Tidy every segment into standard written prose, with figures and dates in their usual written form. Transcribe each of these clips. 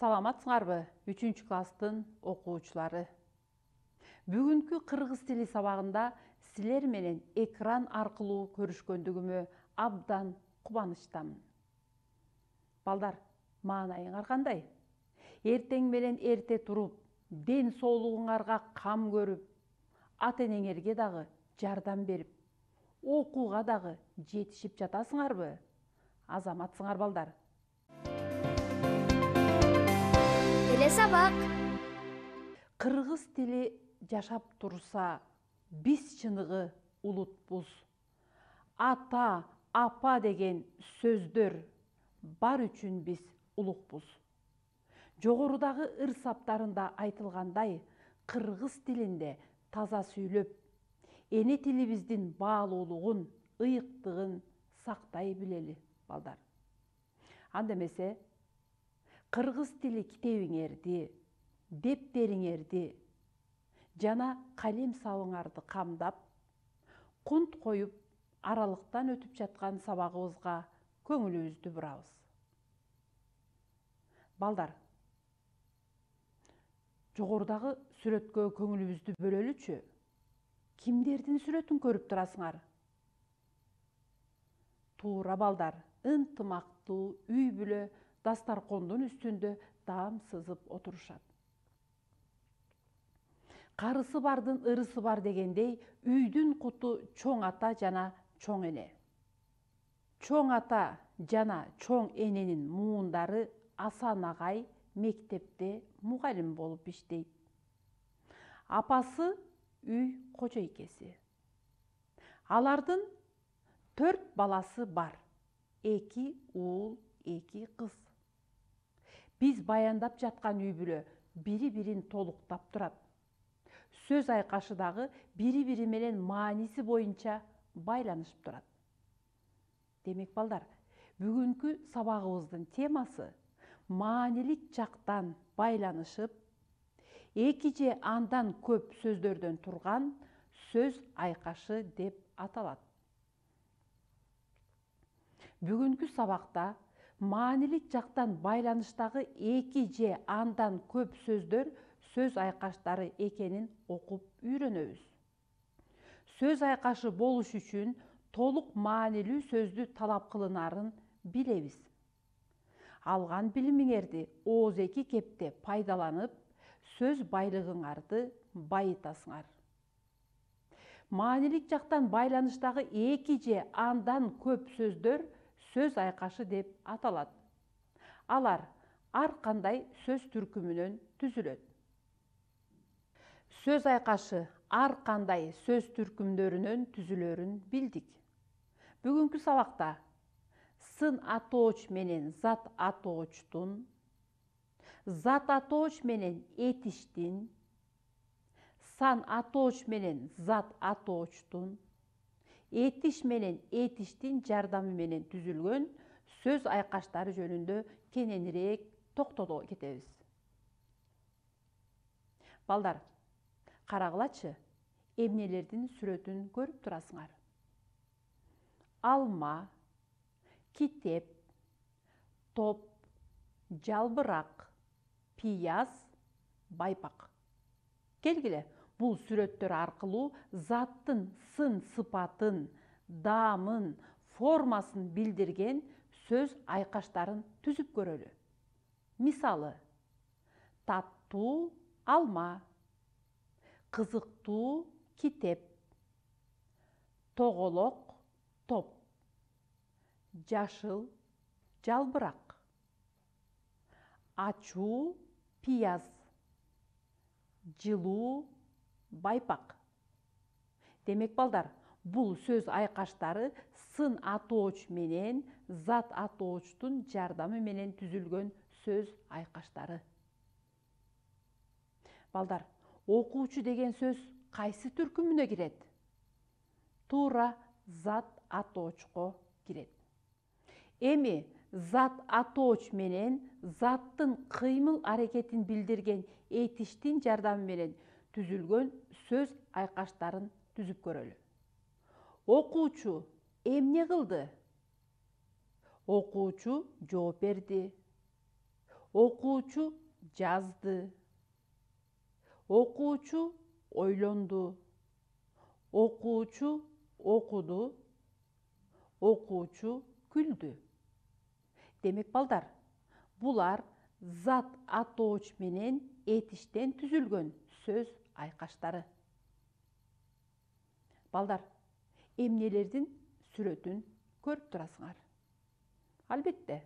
Саламатсыңарбы, 3-класстын окуучулары? Бүгүнкү кыргыз тили сабагында силер менен экран аркылуу көрүшкөндүгүмө абдан кубанычтамын. Балдар, маанайыңар кандай? Эртең менен эрте туруп, ден соолугуңарга кам көрүп, ата-энеңерге дагы жардам берип, окууга дагы жетишип жатасыңарбы? Азаматсыңар балдар. Эле сабак. Кыргыз тили жашап турса, биз чыныгы улутпуз. Ата, апа деген сөздөр бар үчүн биз улукпуз. Жогорудагы ыр саптарында айтылгандай, кыргыз тилинде таза сүйлөп, эне тилибиздин баалуулугун, ыйыктыгын сактай билели, балдар. Анда эмесе, кыргыз тили китебиңерди, дептериңерди жана калем сабыңарды камдап, кунт коюп, аралыктан өтүп жаткан сабагыбызга көңүлүбүздү бурабыз. Балдар, жогорудагы сүрөткө көңүлүбүздү бөлөлүчү. Кимдердин сүрөтүн көрүп турасыңар? Туура балдар, ынтымактуу үй бүлө дастаркондун үстүндө даам сызып отурушат. Карысы бардын ырысы бар дегендей, үйдүн куту чоң ата жана чоң эне. Чоң ата жана чоң эненин муундары Асан агай мектепте мугалим болуп иштейт. Апасы үй кожойкеси. Алардын 4 баласы бар. 2 уул, 2 кыз. Биз баяндап жаткан үй бүлө бири-бирин толуктап турат. Сөз айкашы дагы бири-бири менен мааниси боюнча байланышып турат. Демек балдар, бүгүнкү сабагыбыздын темасы маанилик жактан байланышып, 2 же андан көп сөздөрдөн турган сөз айкашы деп аталат. Бүгүнкү сабакта маанилик жактан байланыштагы 2 же андан көп сөздөр сөз айкаштары экенин окуп үйрөнөбүз. Сөз айкашы болуш үчүн толук маанилүү сөздү талап кылынарын билебиз. Алган билимиңерди ооз-эки кепте пайдаланып, сөз байлыгыңарды байытасыңар. Маанилик жактан байланыштагы 2 же андан көп сөздөр сөз айкашы деп аталат. Алар ар кандай сөз түркүмүнөн түзүлөт. Сөз айкашы ар кандай сөз түркүмдөрүнөн түзүлөрүн билдик. Бүгүнкү сабакта сын атооч менен зат атоочтун, зат атооч менен этиштин, сан атооч менен зат атоочтун, этиш менен этиштин жардамы менен түзүлгөн сөз айкаштары жөнүндө кененирээк токтоло кетебиз. Балдар, карагылачы, эмнелердин сүрөтүн көрүп турасыңар? Алма, китеп, топ, жалбырак, пияз, байпак. Келгиле, бул сүрөттөр аркылуу заттын сын сыпатын, даамын, формасын билдирген сөз айкаштарын түзүп көрөлү. Мисалы, таттуу алма, кызыктуу китеп, тоголок топ, жашыл жалбырак, ачуу пияз, жылуу байпак. Демек балдар, бул сөз айкаштары сын атооч менен зат атоочтун жардамы менен түзүлгөн сөз айкаштары. Балдар, окуучу деген сөз кайсы түркүмүнө кирет? Туура, зат атоочко кирет. Эми зат атооч менен заттын кыймыл аракетин билдирген этиштин жардамы менен түзүлгөн сөз айкаштарын түзүп көрөлү. Окуучу эмне кылды? Окуучу жооп берди. Окуучу жазды. Окуучу ойлонду. Окуучу окуду. Окуучу күлдү. Демек балдар, булар зат атооч менен этиштен түзүлгөн сөз айкаштары. Балдар, эмнелердин сүрөтүн көрүп турасыңар? Албетте,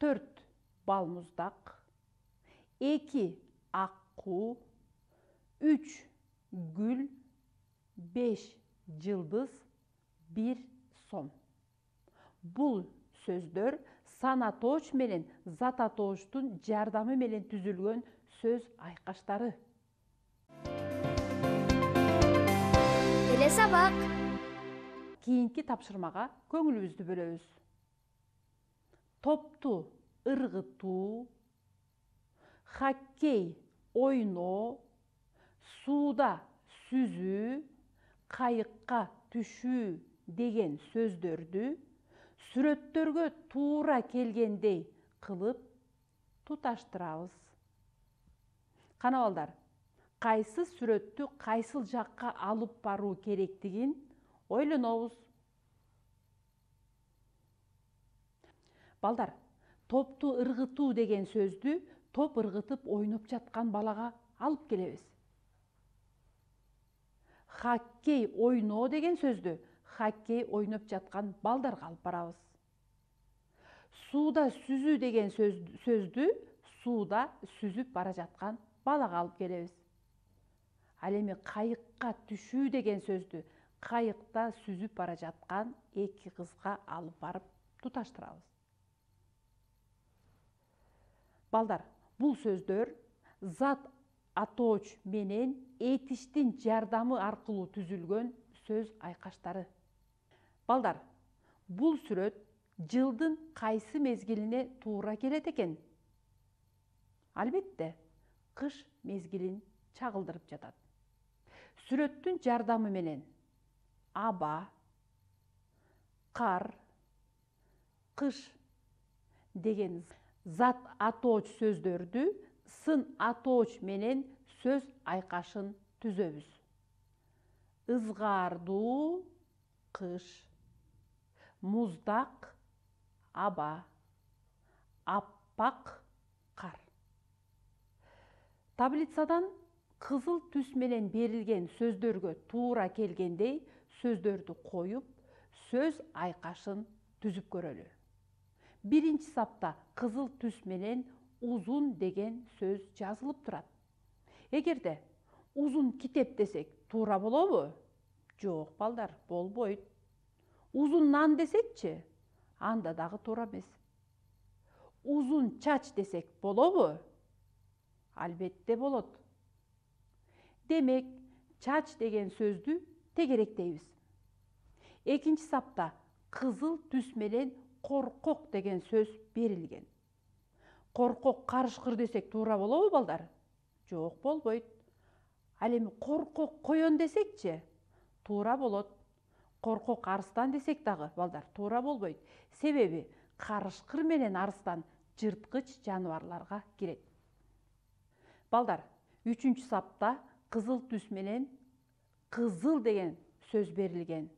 4 балмуздак, 2 аккуу, 3 гүл, 5 жылдыз, 1 сом. Бул сөздөр сан атооч менен зат атоочтун жардамы менен түзүлгөн сөз айкаштары. Эле сабак. Кийинки тапшырмага көңүлүбүздү бөлөбүз. Топту ыргытуу, хоккей ойноо, сууда сүзүү, кайыкка түшүү деген сөздөрдү сүрөттөргө туура келгендей кылып туташтырабыз. Кана балдар, кайсы сүрөттү кайсыл жакка алып баруу керектигин ойлонобуз. Балдар, топту ыргытуу деген сөздү топ ыргытып ойноп жаткан балага алып келебиз. Хоккей ойноо деген сөздү хоккей ойноп жаткан балдарга алып барабыз. Сууда сүзүү деген сөздү сууда сүзүп бара жаткан балага алып келебиз. Ал эми кайыкка түшүү деген сөздү кайыкта сүзүп бара жаткан эки кызга алып барып туташтырабыз. Балдар, бул сөздөр зат атооч менен этиштин жардамы аркылуу түзүлгөн сөз айкаштары. Балдар, бул сүрөт жылдын кайсы мезгилине туура келет экен? Албетте, кыш мезгилин чагылдырып жатат. Сүрөттүн жардамы менен аба, кар, кыш деген зат атооч сөздөрдү сын атооч менен сөз айкашын түзөбүз. Ызгаардуу кыш, муздак аба, аппак кар. Таблицадан кызыл түс менен берилген сөздөргө туура келгендей сөздөрдү коюп, сөз айкашын түзүп көрөлү. Биринчи сапта кызыл түс менен узун деген сөз жазылып турат. Эгерде узун китеп десек, туура болобу? Жок, балдар, болбойт. Узун нан десекчи, анда дагы туура эмес. Узун чач десек болобу? Албетте болот. Демек, чач деген сөздү тегеректейбиз. Экинчи сапта кызыл түс менен коркок деген сөз берилген. Коркок карышкыр десек туура болобу, балдар? Жок, болбойт. Ал эми коркок коён десекчи, туура болот. Коркок арстан десек дагы, балдар, туура болбойт. Себеби карышкыр менен арстан жырткыч жаныбарларга кирет. Балдар, үчүнчү сапта кызыл түс менен кызыл деген сөз берилген.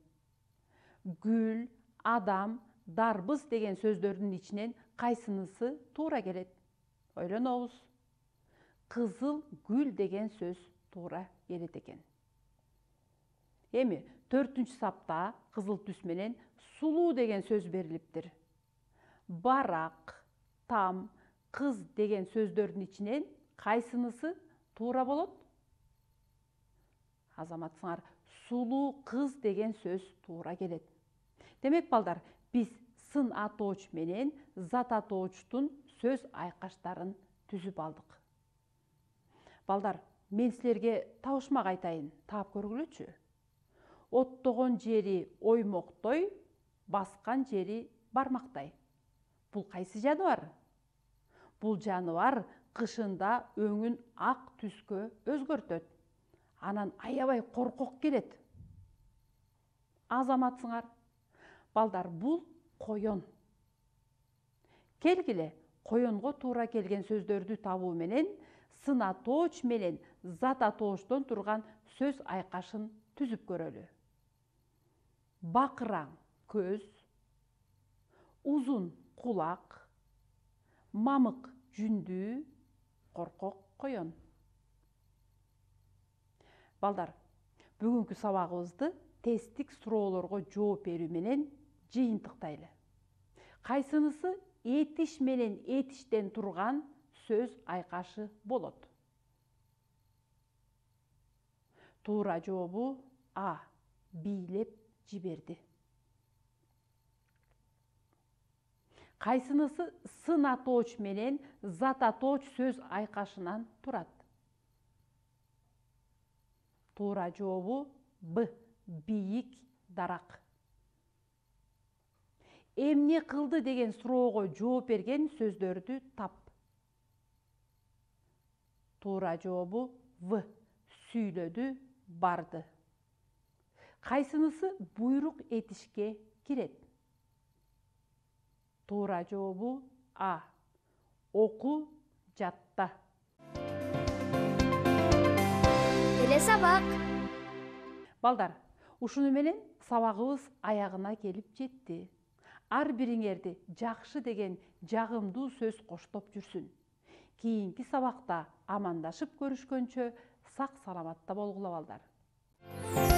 Гүл, адам, дарбыз деген сөздөрдүн ичинен кайсынысы туура келет? Ойлонобуз. Кызыл гүл деген сөз туура келет экен. Эми 4-үнчү сапта кызыл түс менен сулуу деген сөз берилиптир. Барак, там, кыз деген сөздөрдүн ичинен кайсынысы туура болот? Азаматсыңар, сулуу кыз деген сөз туура келет. Демек, балдар, биз сын атооч менен зат атоочтун сөз айкаштарын түзүп алдык. Балдар, мен силерге табышмак айтайын, таап көргүлөчү. Оттогон жери оймоктой, баскан жери бармактай. Бул кайсы жаныбар? Бул жаныбар кышында өңүн ак түскө өзгөртөт. Анан аябай коркок келет. Азаматсыңар, балдар, бул коён. Келгиле, коенго туура келген сөздөрдү табуу менен сын атооч менен зат атоочтон турган сөз айкашын түзүп көрөлү. Бакыраң көз, узун кулак, мамык жүндүү, коркок коен. Балдар, бүгүнкү сабагыбызды тесттик суроолорго жооп берүү менен жыйынтыктайлы. Кайсынысы этиш менен этиштен турган сөз айкашы болот? Туура жообу А. Бийлеп жиберди. Кайсынысы сын атооч менен зат атооч сөз айкашынан турат? Туура жообу Б. Бийик дарак. Эмне кылды деген суроого жооп берген сөздөрдү тап. Туура жообу В. Сүйлөдү, барды. Кайсынысы буйрук этишке кирет? Туура жообу А. Оку, жатта. Келе сабак. Балдар, ушуну менен сабагыбыз аягына келип жетти. Ар бириңерди жакшы деген жагымдуу сөз коштоп жүрсүн. Кийинки сабакта амандашып көрүшкөнчө сак саламатта болгула балдар.